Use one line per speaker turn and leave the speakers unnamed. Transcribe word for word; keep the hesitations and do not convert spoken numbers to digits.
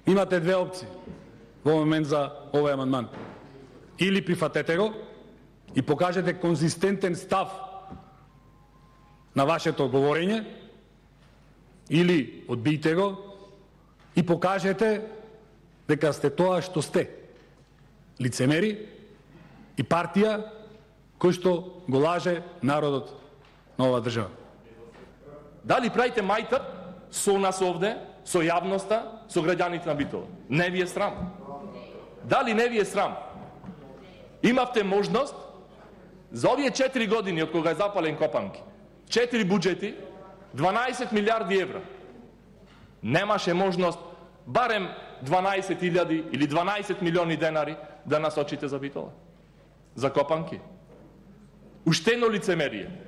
Имате две опции во момент за овој амандман. Или прифатете го и покажете конзистентен став на вашето говорење, или одбијте го и покажете дека сте тоа што сте. Лицемери и партија кој што го лаже народот на оваа држава.
Дали правите мајтап со нас овде, со јавноста, со граѓаните на Битола? Не ви е срам? Дали не ви е срам? Имавте можност за овие четири години од кога е запален Копанки, четири буџети, дванаесет милиарди евра. Немаше можност барем дванаесет илјади или дванаесет милиони денари да насочите за Битола, за Копанки. Уштено лицемерие.